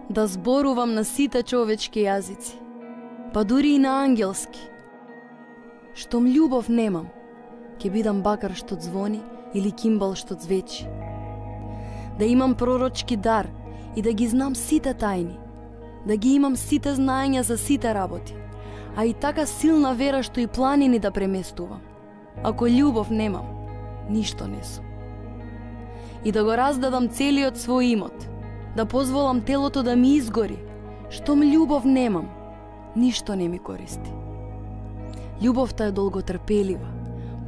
да зборувам на сите човечки јазици, па дури и на ангелски. Штом љубов немам, ќе бидам бакар што звони или кимбал што звечи. Да имам пророчки дар и да ги знам сите тајни, да ги имам сите знаења за сите работи, а и така силна вера што и планини да преместувам. Ако љубов немам, ништо не сум. И да го раздадам целиот свој имот, да позволам телото да ми изгори, штом љубов немам, ништо не ми користи. Љубовта е долготрпелива,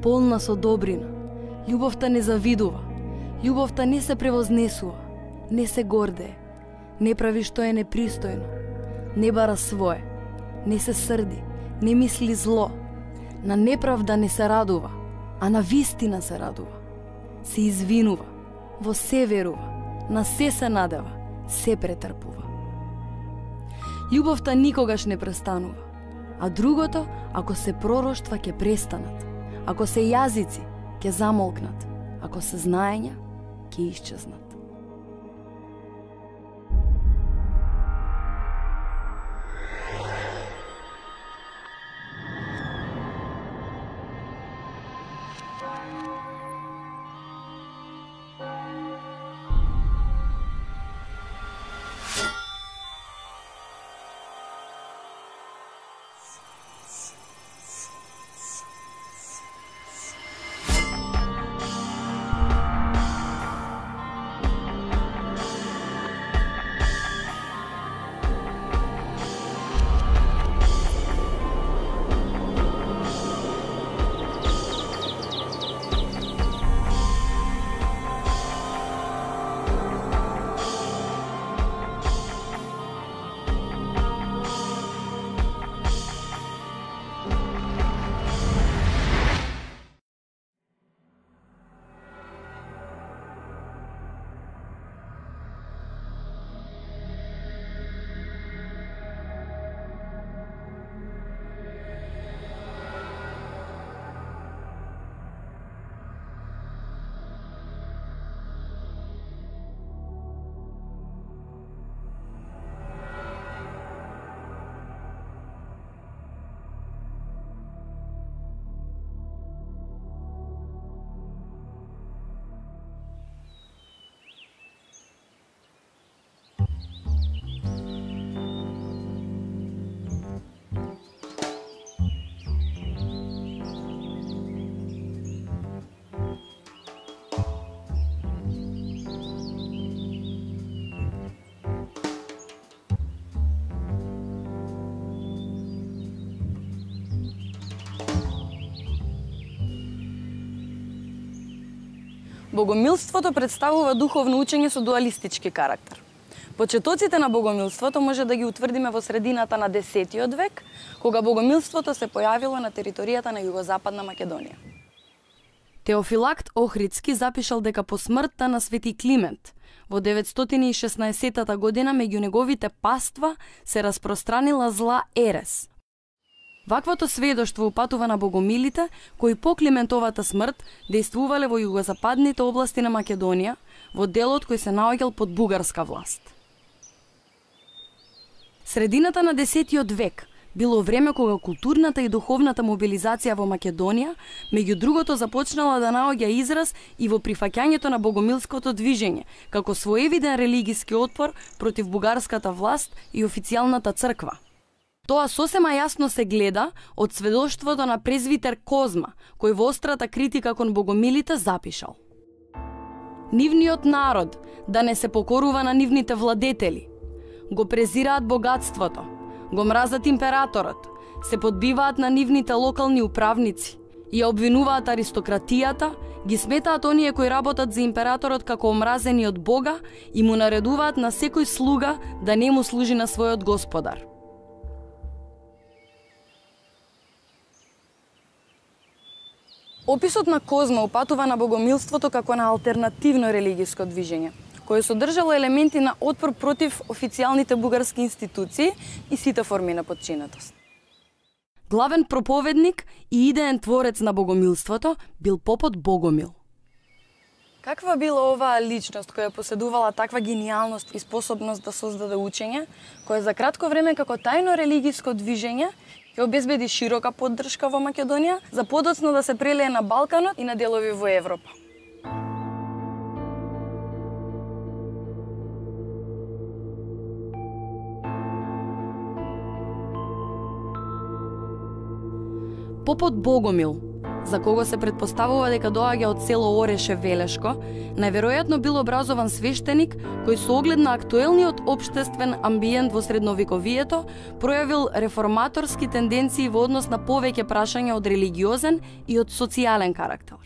полна со добрина. Љубовта не завидува. Љубовта не се превознесува, не се гордее, не прави што е непристојно, не бара свое, не се срди, не мисли зло, на неправда не се радува, а на вистина се радува. Се извинува, во се верува, на се надева, се претрпува. Љубовта никогаш не престанува, а другото, ако се пророштва, ќе престанат, ако се јазици, ќе замолкнат, ако се знаења, ќе исчезнат. Богомилството представува духовно учење со дуалистички карактер. Почетоците на богомилството може да ги утврдиме во средината на 10 век, кога богомилството се појавило на територијата на југозападна Македонија. Теофилакт Охридски запишал дека по смртта на Свети Климент во 916 година меѓу неговите паства се распространила зла ерес. Ваквото сведоштво упатува на богомилите кои по Климентовата смрт дејствувале во југозападните области на Македонија, во делот кој се наоѓал под бугарска власт. Средината на 10 век било време кога културната и духовната мобилизација во Македонија, меѓу другото, започнала да наоѓа израз и во прифаќањето на богомилското движење, како своевиден религиски отпор против бугарската власт и официјалната црква. Тоа сосема јасно се гледа од сведоштвото на презвитер Козма, кој во острата критика кон богомилите запишал: Нивниот народ да не се покорува на нивните владетели, го презираат богатството, го мразат императорот, се подбиваат на нивните локални управници, ја обвинуваат аристократијата, ги сметаат оние кои работат за императорот како омразени од Бога и му наредуваат на секој слуга да не му служи на својот господар. Описот на Козма упатува на богомилството како на алтернативно религиско движење, кое содржало елементи на отпор против официјалните бугарски институции и сите форми на подчинетост. Главен проповедник и идеен творец на богомилството бил попот Богомил. Каква била оваа личност која поседувала таква гениалност и способност да создаде учење, која за кратко време како тајно религиско движење ќе обезбеди широка поддршка во Македонија, за подоцно да се прелее на Балканот и на делови во Европа? Попот Богомил, за кого се предпоставува дека доаѓа од село Ореше Велешко, најверојатно бил образован свештеник кој со оглед на актуелниот општествен амбиент во средновековието пројавил реформаторски тенденции во однос на повеќе прашања од религиозен и од социјален карактер.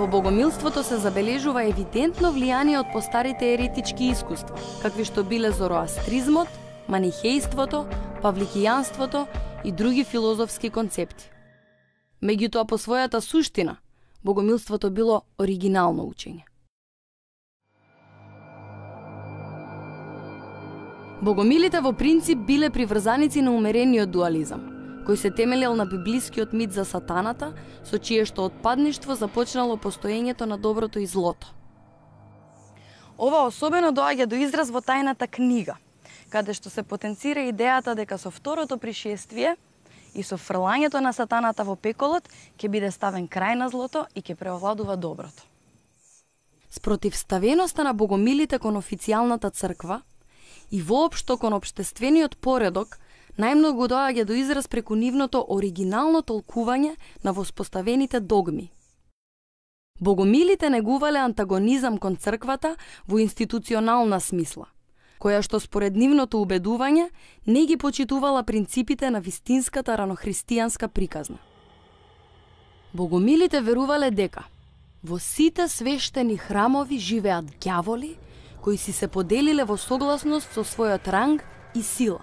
Во богомилството се забележува евидентно влијание од постарите еретички искуства, какви што биле зороастризмот, манихејството, павликијанството и други филозофски концепти. Меѓутоа, по својата суштина, богомилството било оригинално учење. Богомилите во принцип биле приврзаници на умерениот дуализам, кој се темелел на библискиот мит за сатаната, со чие што отпадништво започнало постоењето на доброто и злото. Ова особено доаѓа до израз во тајната книга, каде што се потенцира идејата дека со второто пришествие и со фрлањето на сатаната во пеколот ќе биде ставен крај на злото и ќе преовладува доброто. Спротивставеноста на богомилите кон официјалната црква и воопшто кон општествениот поредок најмногу доаѓа до израз преку нивното оригинално толкување на воспоставените догми. Богомилите негувале антагонизам кон црквата во институционална смисла, која што според нивното убедување не ги почитувала принципите на вистинската ранохристијанска приказна. Богомилите верувале дека во сите свештени храмови живеат ѓаволи кои си се поделиле во согласност со својот ранг и сила.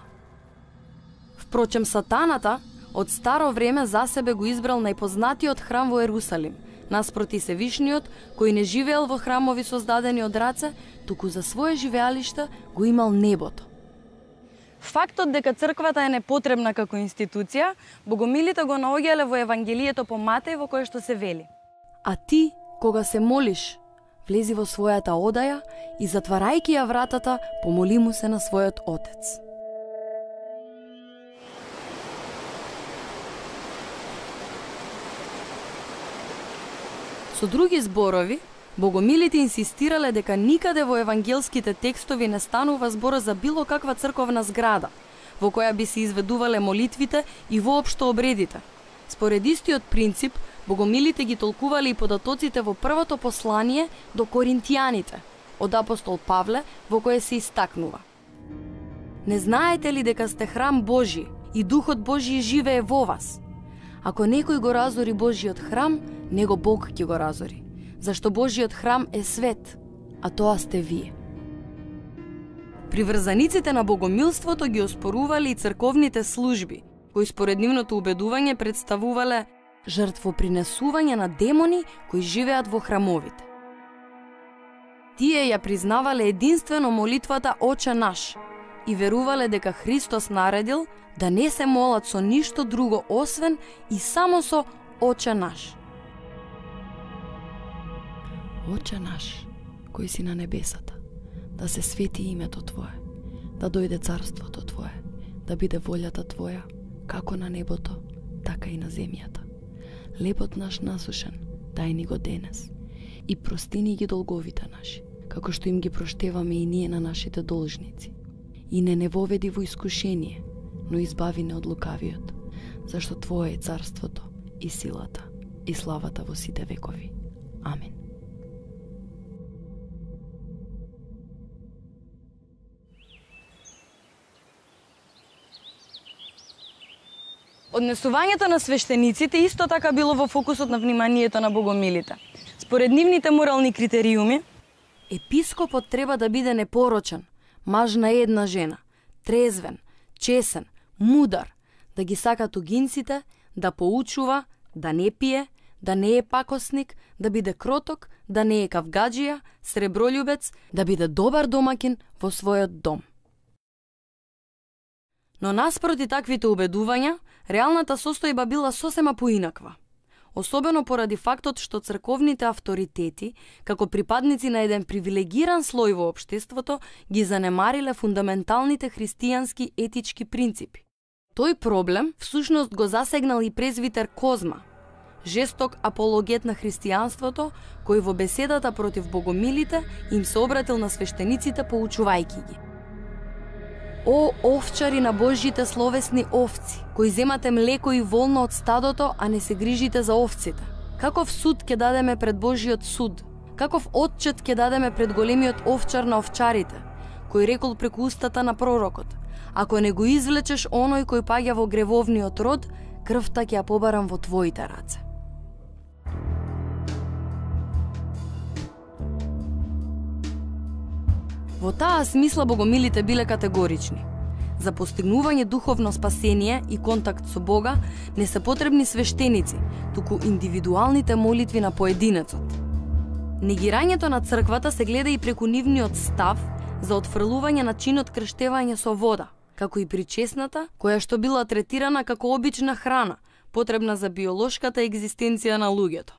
Впрочем, сатаната од старо време за себе го избрал најпознатиот храм во Ерусалим, наспроти Севишниот, кој не живеел во храмови создадени од раце, туку за свое живеалиште го имал небото. Фактот дека црквата е непотребна како институција, богомилите го наоѓале во Евангелието по Матеј, во кое што се вели: А ти, кога се молиш, влези во својата одаја и затварајќи ја вратата, помоли му се на својот Отец. Со други зборови, богомилите инсистирале дека никаде во евангелските текстови не станува збор за било каква црковна зграда, во која би се изведувале молитвите и воопшто обредите. Според истиот принцип, богомилите ги толкувале и податоците во првото послание до Коринтијаните, од апостол Павле, во кое се истакнува: Не знаете ли дека сте храм Божи и Духот Божи живее во вас? Ако некој го разори Божиот храм, него Бог ќе го разори, зашто Божиот храм е свет, а тоа сте вие. Приврзаниците на богомилството ги оспорувале и црковните служби, кои според нивното убедување представувале жртвопринесување на демони кои живеат во храмовите. Тие ја признавале единствено молитвата Оче наш и верувале дека Христос наредил да не се молат со ништо друго освен и само со Оче наш. Оче наш, кој си на небесата, да се свети името Твое, да дојде царството Твое, да биде волјата Твоја, како на небото, така и на земјата. Лебот наш насушен, дај ни го денес, и прости ни ги долговите наши, како што им ги проштеваме и ние на нашите должници. И не воведи во искушение, но избави не од лукавиот, зашто Твое е царството, и силата, и славата во сите векови. Амин. Однесувањето на свештениците исто така било во фокусот на вниманието на богомилите. Според нивните морални критериуми, епископот треба да биде непорочен, маж на една жена, трезвен, чесен, мудар, да ги сака тугинците, да поучува, да не пие, да не е пакосник, да биде кроток, да не е кавгаджија, сребролюбец, да биде добар домакин во својот дом. Но наспроти таквите убедувања, реалната состојба била сосема поинаква. Особено поради фактот што црковните авторитети, како припадници на еден привилегиран слој во општеството, ги занемариле фундаменталните христијански етички принципи. Тој проблем всушност го засегнал и презвитер Козма, жесток апологет на христијанството, кој во беседата против богомилите им се обратил на свештениците поучувајќи ги. О, овчари на Божјите словесни овци, кои земате млеко и волно од стадото, а не се грижите за овците. Каков суд ќе дадеме пред Божјиот суд? Каков отчет ќе дадеме пред големиот овчар на овчарите, кој рекол преку устата на пророкот: ако не го извлечеш оној кој паѓа во гревовниот род, крвта ќе ја побарам во твоите раце. Во таа смисла богомилите биле категорични. За постигнување духовно спасение и контакт со Бога не се потребни свештеници, туку индивидуалните молитви на поединецот. Негирањето на црквата се гледа и преку нивниот став за отфрлување на чинот крштевање со вода, како и причесната, која што била третирана како обична храна, потребна за биолошката екзистенција на луѓето.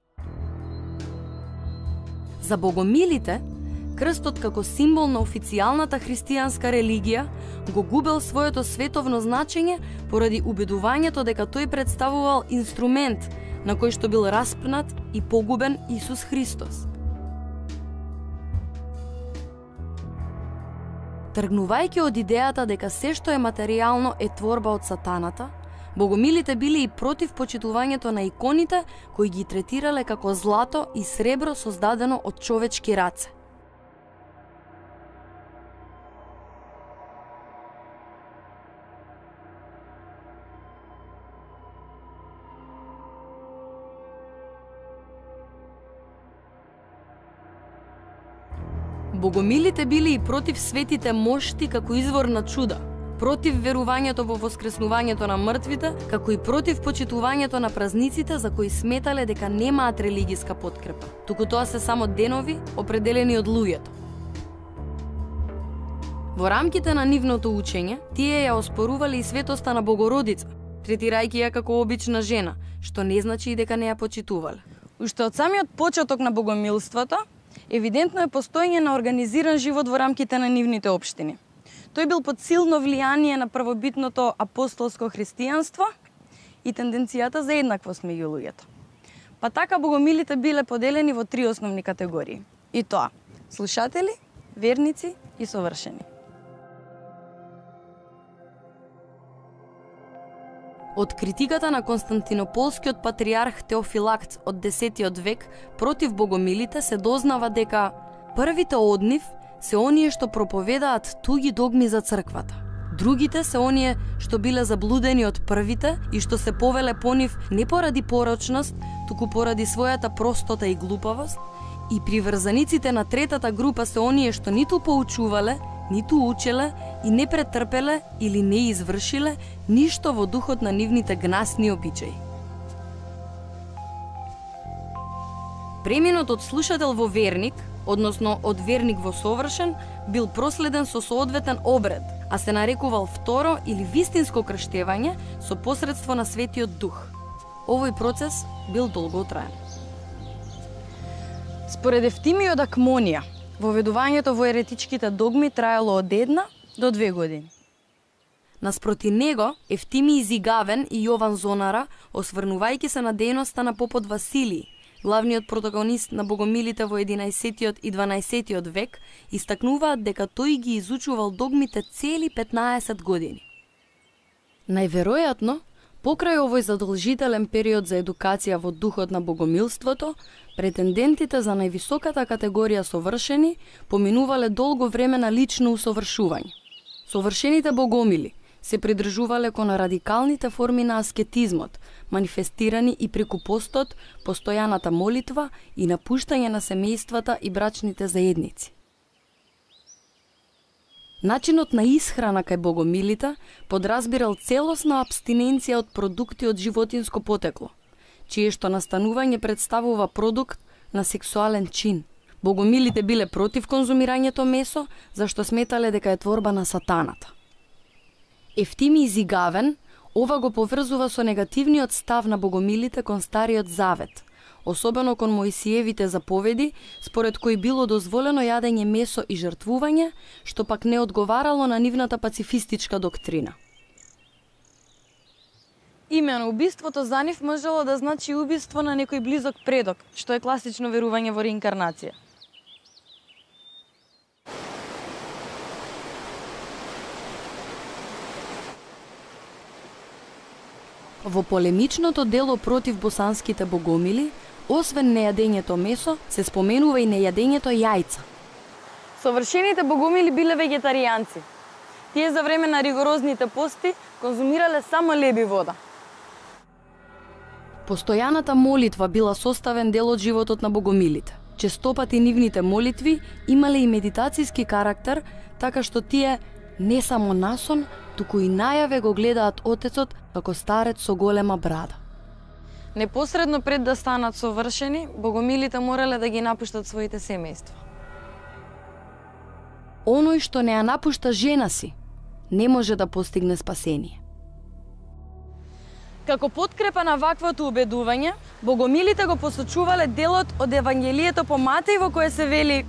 За богомилите, крстот како символ на официјалната христијанска религија го губел своето световно значење поради убедувањето дека тој представувал инструмент на кој што бил распнат и погубен Исус Христос. Тргнувајќи од идејата дека се што е материјално е творба од сатаната, богомилите биле и против почитувањето на иконите кои ги третирале како злато и сребро создадено од човечки раце. Богомилите биле и против светите мошти како извор на чуда, против верувањето во воскреснувањето на мртвите, како и против почитувањето на празниците за кои сметале дека немаат религиска подкрепа, туку тоа се само денови определени од луѓето. Во рамките на нивното учење, тие ја оспорувале и светоста на Богородица, третирајќи ја како обична жена, што не значи и дека не ја почитувале. Уште од самиот почеток на богомилството, евидентно е постоење на организиран живот во рамките на нивните општини. Тој бил под силно влијание на првобитното апостолско христијанство и тенденцијата за еднаквост меѓу луѓето. Па така богомилите биле поделени во три основни категории. И тоа: слушатели, верници и совршени. Од критиката на Константинополскиот патриарх Теофилакт од 10 век против богомилите се дознава дека првите од нив се оние што проповедаат туги догми за црквата. Другите се оние што биле заблудени од првите и што се повеле по нив не поради порочност, туку поради својата простота и глупавост. И приврзаниците на третата група се оние што ниту поучувале, ниту учеле и не претрпеле или не извршиле ништо во духот на нивните гнасни обичаи. Преминот од слушател во верник, односно од верник во совршен, бил проследен со соодветен обред, а се нарекувал второ или вистинско крштевање со посредство на Светиот Дух. Овој процес бил долготраен. Според Евтимиј од Акмонија, воведувањето во еретичките догми траело од 1 до 2 години. Наспроти него, Евтимиј Зигавен и Јован Зонара, осврнувајќи се на дејноста на попот Василиј, главниот протагонист на богомилите во 11 и 12 век, истакнуваат дека тој ги изучувал догмите цели 15 години. Најверојатно, покрај овој задолжителен период за едукација во духот на богомилството, претендентите за највисоката категорија совршени поминувале долго време на лично усовршување. Совршените богомили се придржувале кон радикалните форми на аскетизмот, манифестирани и преку постот, постојаната молитва и напуштање на семејствата и брачните заедници. Начинот на исхрана кај богомилите подразбирал целосна абстиненција од продукти од животинско потекло, чие што настанување представува продукт на сексуален чин. Богомилите биле против конзумирањето месо, зашто сметале дека е творба на сатаната. Ефтими Зигавен ова го поврзува со негативниот став на богомилите кон Стариот Завет, особено кон Моисиевите заповеди, според кои било дозволено јадење месо и жртвување, што пак не одговарало на нивната пацифистичка доктрина. Имено убиството за нив можело да значи убиство на некој близок предок, што е класично верување во реинкарнација. Во полемичното дело против босанските богомили, освен нејадењето месо, се споменува и нејадењето јајца. Совршените богомили биле вегетаријанци. Тие за време на ригорозните пости конзумирале само леб и вода. Постојаната молитва била составен дел од животот на богомилите. Честопати нивните молитви имале и медитацијски карактер, така што тие не само насон, туку и најаве го гледаат Отецот како старец со голема брада. Непосредно пред да станат совршени, богомилите морале да ги напуштат своите семејства. Оној што не ја напушта жена си, не може да постигне спасение. Како подкрепа на ваквото убедување, богомилите го посочувале делот од Евангелието по Матеј во кое се вели: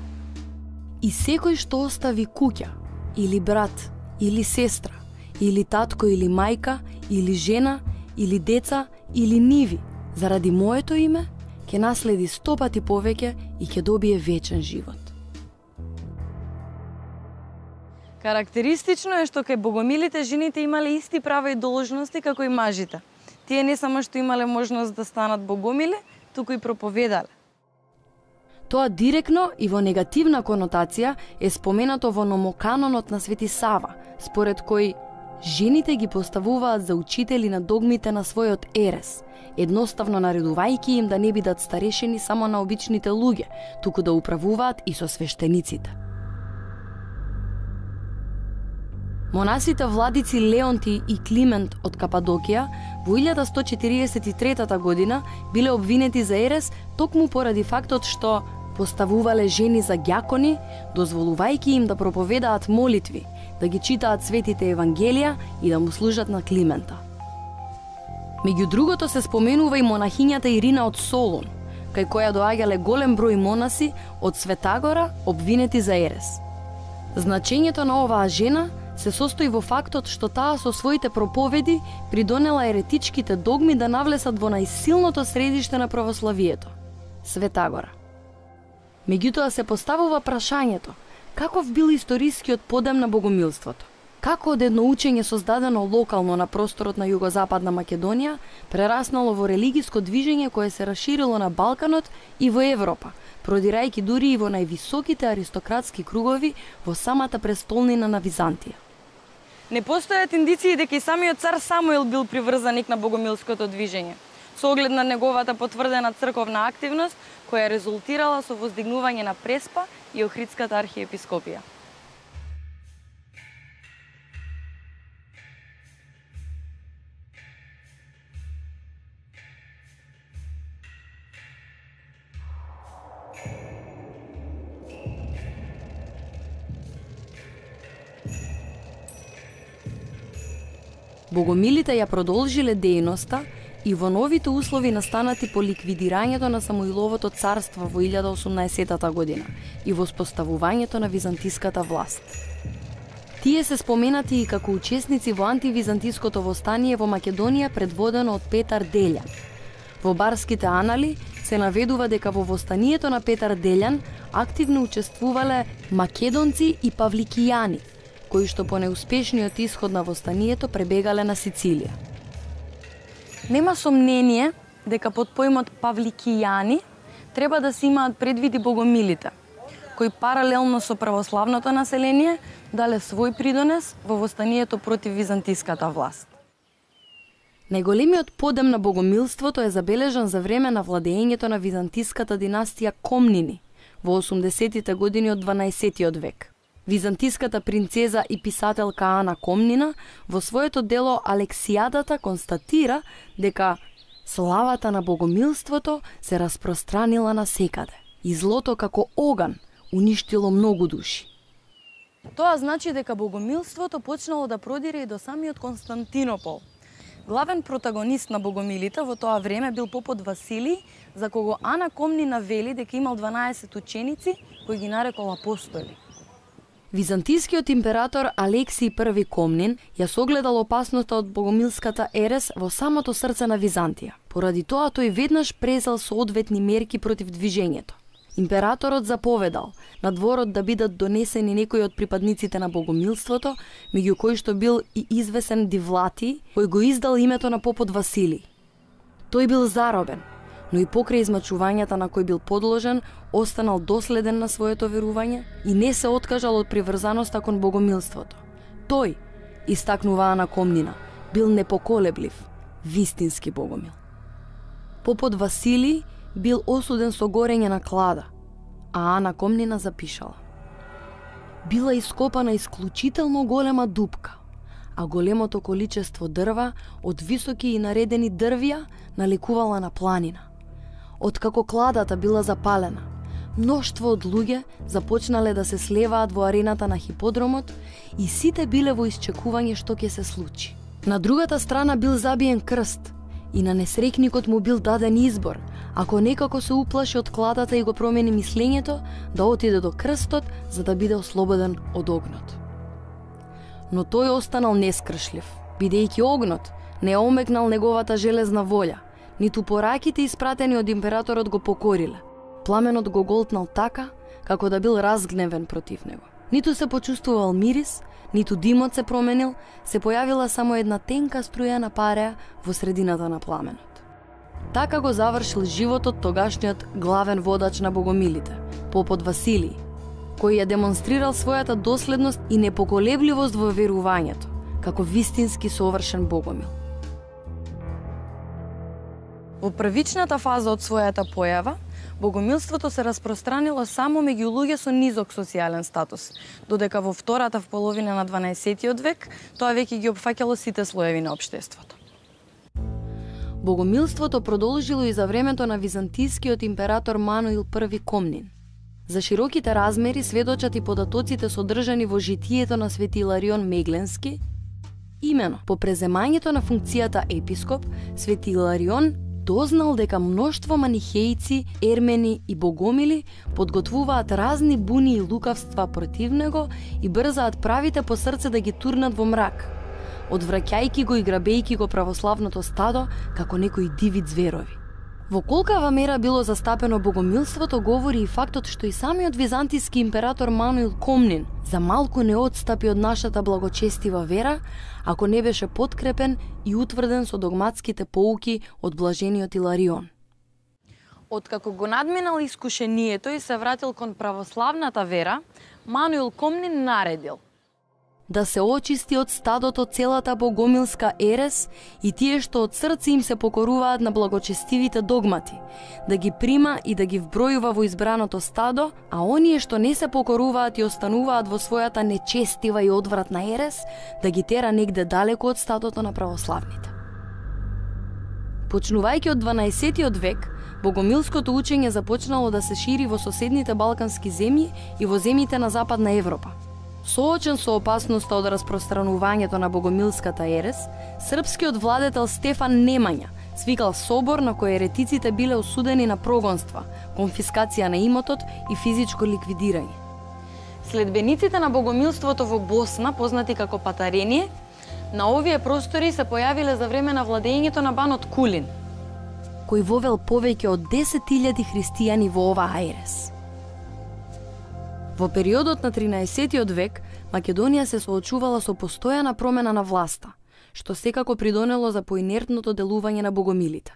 И секој што остави куќа, или брат, или сестра, или татко, или мајка, или жена, или деца, или ниви, заради моето име, ќе наследи 100 пати повеќе и ќе добие вечен живот. Карактеристично е што кај богомилите жените имале исти права и должности како и мажите. Тие не само што имале можност да станат богомили, туку и проповедале. Тоа директно и во негативна конотација е споменато во номоканонот на Свети Сава, според кој жените ги поставуваат за учители на догмите на својот ерес, едноставно наредувајќи им да не бидат старешени само на обичните луѓе, туку да управуваат и со свештениците. Монасите владици Леонти и Климент од Кападокија во 1143 година биле обвинети за ерес токму поради фактот што поставувале жени за ѓакони, дозволувајќи им да проповедаат молитви, да ги читаат светите евангелија и да му служат на Климента. Меѓу другото се споменува и монахињата Ирина од Солун, кај која доаѓале голем број монаси од Светагора обвинети за ерес. Значењето на оваа жена се состои во фактот што таа со своите проповеди придонела еретичките догми да навлесат во најсилното средиште на православието – Светагора. Меѓутоа се поставува прашањето, каков бил историскиот подем на богомилството? Како од едно учење создадено локално на просторот на југозападна Македонија, прераснало во религиско движење кое се расширило на Балканот и во Европа, продирајќи дури и во највисоките аристократски кругови во самата престолнина на Византија. Не постојат индиции дека и самиот цар Самуил бил приврзаник на богомилското движење, со оглед на неговата потврдена црковна активност, која резултирала со воздигнување на Преспа и Охридската архиепископија. Богомилите ја продолжиле дејноста и во новите услови настанати по ликвидирањето на Самуиловото царство во 1018 година и во споставувањето на византиската власт. Тие се споменати и како учесници во антивизантиското востание во Македонија предводено од Петар Делјан. Во барските анали се наведува дека во востанието на Петар Делјан активно учествувале македонци и павликијани, кои што по неуспешниот исход на востанието пребегале на Сицилија. Нема сомнение дека под поимот павликијани треба да се имаат предвиди богомилите, кои паралелно со православното население дале свој придонес во востанието против византиската власт. Најголемиот подем на богомилството е забележан за време на владеењето на византиската династија Комнини во 80-тите години од 12-тиот век. Византиската принцеза и писателка Ана Комнина во своето дело Алексијадата констатира дека славата на богомилството се распространила насекаде и злото како оган уништило многу души. Тоа значи дека богомилството почнало да продире и до самиот Константинопол. Главен протагонист на богомилите во тоа време бил попот Василий, за кого Ана Комнина вели дека имал 12 ученици кои ги нарекол апостоли. Византискиот император Алексиј I Комнин ја согледал опасноста од богомилската ерес во самото срце на Византија. Поради тоа тој веднаш презел соодветни мерки против движењето. Императорот заповедал на дворот да бидат донесени некои од припадниците на богомилството, меѓу кои што бил и извесен Дивлати, кој го издал името на попот Василий. Тој бил заробен, но и покрај измачувањата на кој бил подложен, останал доследен на своето верување и не се откажал од приврзаноста кон богомилството. Тој, истакнува Ана Комнина, бил непоколеблив, вистински богомил. Попот Василий бил осуден со горење на клада, а Ана Комнина запишала: била ископана исклучително голема дупка, а големото количество дрва од високи и наредени дрвја наликувала на планина. Откако кладата била запалена, мноштво од луѓе започнале да се слеваат во арената на хиподромот и сите биле во исчекување што ќе се случи. На другата страна бил забиен крст и на несрекникот му бил даден избор, ако некако се уплаши од кладата и го промени мислењето, да отиде до крстот за да биде ослободен од огнот. Но тој останал нескршлив, бидејќи огнот не омекнал неговата железна волја, ниту пораките испратени од императорот го покориле. Пламенот го голтнал така, како да бил разгневен против него. Ниту се почувствувал мирис, ниту димот се променил, се појавила само една тенка струја на пареа во средината на пламенот. Така го завршил животот тогашниот главен водач на богомилите, попот Василий, кој ја демонстрирал својата доследност и непоколебливост во верувањето, како вистински совршен богомил. Во првичната фаза од својата појава, богомилството се распространило само меѓу луѓе со низок социјален статус, додека во втората половина на 12 век тоа веќе ги опфаќало сите слоеви на општеството. Богомилството продолжило и за времето на византискиот император Мануил I Комнин. За широките размери сведочат и податоците содржани во житието на Свети Иларион Мегленски. Имено, по преземањето на функцијата епископ, Свети Иларион дознал дека мноштво манихејци, ермени и богомили подготвуваат разни буни и лукавства против него и брзаат правите по срце да ги турнат во мрак, одвраќајќи го и грабејќи го православното стадо како некои диви зверови. Во колкава мера било застапено богомилството говори и фактот што и самиот византиски император Мануил Комнин за малку не отстапи од нашата благочестива вера, ако не беше подкрепен и утврден со догматските поуки од блажениот Иларион. Откако го надминал искушението и се вратил кон православната вера, Мануил Комнин наредил да се очисти од стадото целата богомилска ерес и тие што од срце им се покоруваат на благочестивите догмати, да ги прима и да ги вбројува во избраното стадо, а оние што не се покоруваат и остануваат во својата нечестива и одвратна ерес, да ги тера негде далеко од стадото на православните. Почнувајќи од 12 век, богомилското учење започнало да се шири во соседните балкански земји и во земјите на Западна Европа. Соочен со опасноста од распространувањето на богомилската ерес, српскиот владетел Стефан Немања свикал собор на кој еретиците биле осудени на прогонства, конфискација на имотот и физичко ликвидирање. Следбениците на богомилството во Босна, познати како Патарение, на овие простори се појавиле за време на владењето на банот Кулин, кој вовел повеќе од 10.000 христијани во оваа ерес. Во периодот на 13 век, Македонија се соочувала со постојана промена на власта, што секако придонело за поинертното делување на богомилите.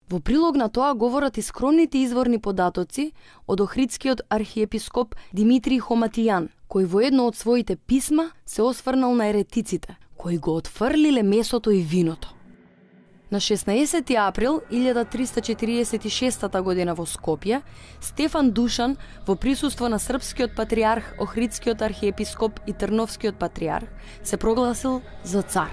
Во прилог на тоа говорат и скромните изворни податоци од охридскиот архиепископ Димитрий Хоматијан, кој во едно од своите писма се осврнал на еретиците, кои го отфрлиле месото и виното. На 16 април 1346 година во Скопје, Стефан Душан во присуство на српскиот патриарх, Охридскиот архиепископ и Трновскиот патриарх се прогласил за цар.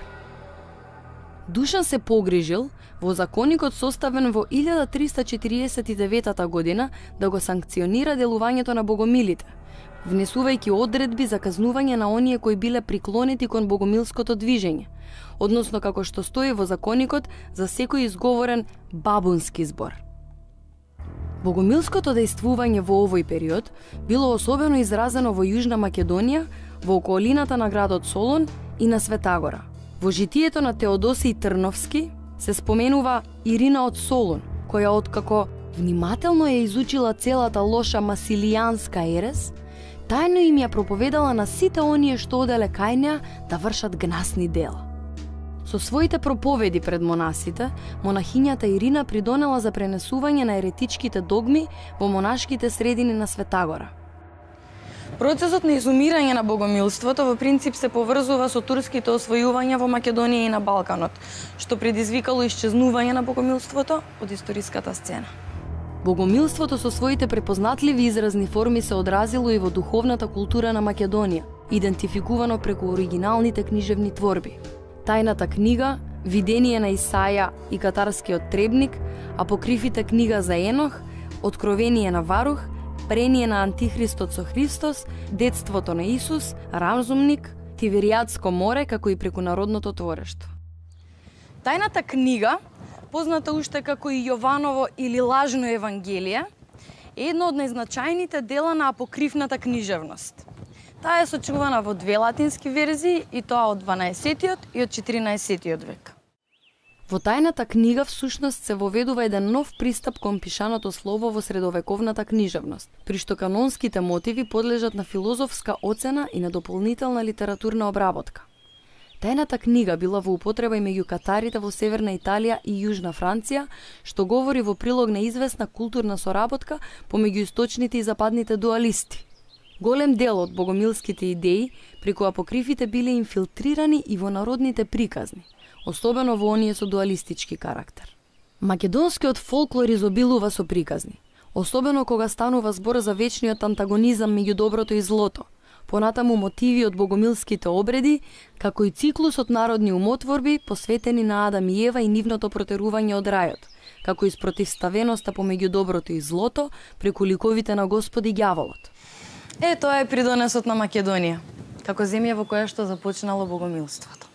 Душан се погрижил во законикот составен во 1349 година да го санкционира делувањето на богомилите, внесувајќи одредби за казнување на оние кои биле приклонети кон богомилското движење, односно како што стои во законикот за секој изговорен бабунски збор. Богомилското дејствување во овој период било особено изразено во Јужна Македонија, во околината на градот Солун и на Светагора. Во житието на Теодосиј Трновски се споменува Ирина од Солун, која откако внимателно ја изучила целата лоша масилијанска ерес, тајно им ја проповедала на сите оние што оделе кај неа да вршат гнасни дела. Со своите проповеди пред монасите, монахињата Ирина придонела за пренесување на еретичките догми во монашките средини на Светагора. Процесот на изумирање на богомилството во принцип се поврзува со турските освојувања во Македонија и на Балканот, што предизвикало исчезнување на богомилството од историската сцена. Богомилството со своите препознатливи изразни форми се одразило и во духовната култура на Македонија, идентификувано преку оригиналните книжевни творби. Тајната книга, Видение на Исаја и Катарскиот требник, апокрифите книга за Енох, Откровение на Варух, Прение на Антихристот со Христос, Детството на Исус, Разумник, Тиверијадско море, како и преку народното творештво. Тајната книга, позната уште како и Јованово или лажно евангелие, е едно од најзначајните дела на апокрифната книжевност. Таа е сочувана во две латински верзии, и тоа од 12-тиот и од 14-тиот век. Во тајната книга всушност се воведува еден нов пристап кон пишаното слово во средовековната книжевност, при што канонските мотиви подлежат на филозофска оцена и на дополнителна литературна обработка. Тајната книга била во употреба и меѓу катарите во Северна Италија и Јужна Франција, што говори во прилог на известна културна соработка помеѓу источните и западните дуалисти. Голем дел од богомилските идеи преку апокрифите биле инфилтрирани и во народните приказни, особено во оние со дуалистички карактер. Македонскиот фолклор изобилува со приказни, особено кога станува збор за вечниот антагонизам меѓу доброто и злото, понатаму мотиви од богомилските обреди, како и циклус од народни умотворби посветени на Адам и Ева и нивното протерување од рајот, како и спротивставеноста помеѓу доброто и злото преку ликовите на Господ и ѓаволот. Тоа е придонесот на Македонија, како земја во која што започнало богомилството.